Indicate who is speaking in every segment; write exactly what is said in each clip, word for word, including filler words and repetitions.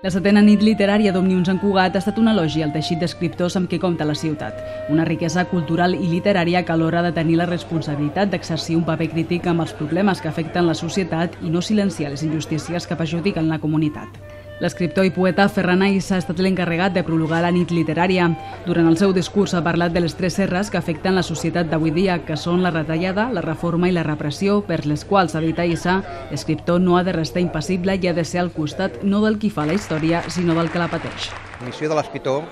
Speaker 1: La setena nit literària d'Òmnium Sant Cugat ha estat un elogi al teixit d'escriptors amb què compta la ciutat. Una riquesa cultural i literària que alhora ha de tenir la responsabilitat d'exercir un paper crític amb els problemes que afecten la societat i no silenciar les injustícies que perjudiquen la comunitat. L'escriptor i poeta Ferran Aissa ha estat l'encarregat de prologar la nit literària. Durant el seu discurs ha parlat de les tres serres que afecten la societat d'avui dia, que són la retallada, la reforma i la repressió, per les quals, ha dit Aissa, l'escriptor no ha de restar impassible i ha de ser al costat no del qui fa la història, sinó del que la pateix.
Speaker 2: La missió de l'escriptor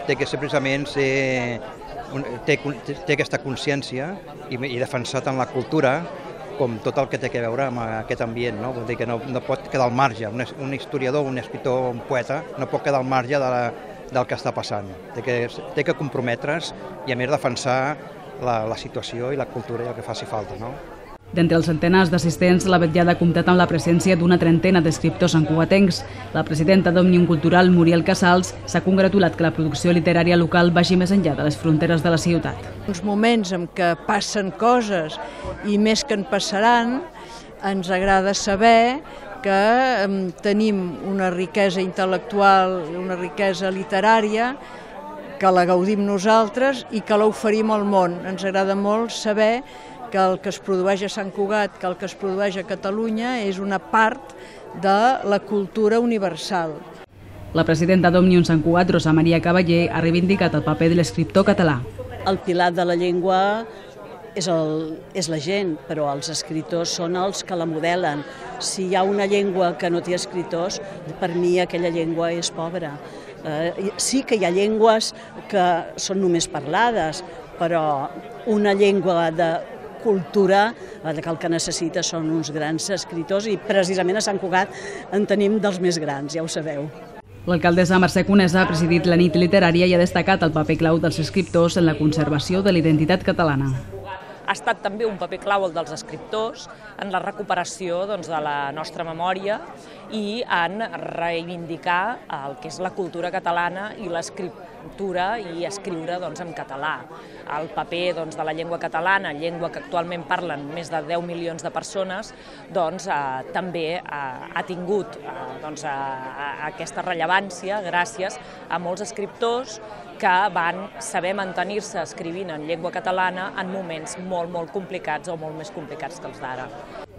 Speaker 2: té que ser precisament ser, té, té aquesta consciència i, i defensar tant la cultura com tot el que té a veure amb aquest ambient, no? Vol dir que no, no pot quedar al marge. Un, un historiador, un escriptor, un poeta, no pot quedar al marge de la, del que està passant. Té que, té que comprometre's i a més defensar la, la situació i la cultura i el que faci falta, no?
Speaker 1: D'entre els centenars d'assistents, la vetllada ha comptat amb la presència d'una trentena d'escriptors santcugatencs. La presidenta d'Òmnium Cultural, Muriel Casals, s'ha congratulat que la producció literària local vagi més enllà de les fronteres de la ciutat.
Speaker 3: Uns moments en què passen coses i més que en passaran, ens agrada saber que tenim una riquesa intel·lectual, una riquesa literària, que la gaudim nosaltres i que l'oferim al món. Ens agrada molt saber que el que es produeix a Sant Cugat, que el que es produeix a Catalunya és una part de la cultura universal.
Speaker 1: La presidenta d'Òmnium Sant Cugat, Rosa Maria Cavaller, ha reivindicat el paper de l'escriptor català.
Speaker 4: El pilar de la llengua és, el, és la gent, però els escriptors són els que la modelen. Si hi ha una llengua que no té escriptors, per mi aquella llengua és pobra. Eh, sí que hi ha llengües que són només parlades, però una llengua de cultura, que el que necessita són uns grans escriptors i precisament a Sant Cugat en tenim dels més grans, ja ho sabeu.
Speaker 1: L'alcaldessa Mercè Conesa ha presidit la nit literària i ha destacat el paper clau dels escriptors en la conservació de la identitat catalana.
Speaker 5: Ha estat també un paper clau el dels escriptors en la recuperació doncs, de la nostra memòria i en reivindicar el que és la cultura catalana i l'escriptura i escriure doncs, en català. El paper doncs, de la llengua catalana, llengua que actualment parlen més de deu milions de persones, doncs, eh, també eh, ha tingut eh, doncs, a, a aquesta rellevància gràcies a molts escriptors que van saber mantenir-se escrivint en llengua catalana en moments molt, molt complicats o molt més complicats que els d'ara.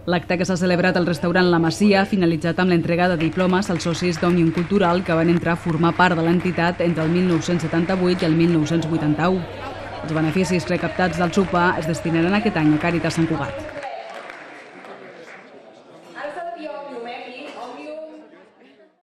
Speaker 1: L'acte que s'ha celebrat al restaurant La Masia ha finalitzat amb l'entrega de diplomes als socis d'Òmnium Cultural que van entrar a formar part de l'entitat entre el mil nou-cents setanta-vuit i el mil nou-cents vuitanta-u. Els beneficis recaptats del sopar es destinaran aquest any a Càritas Sant Cugat.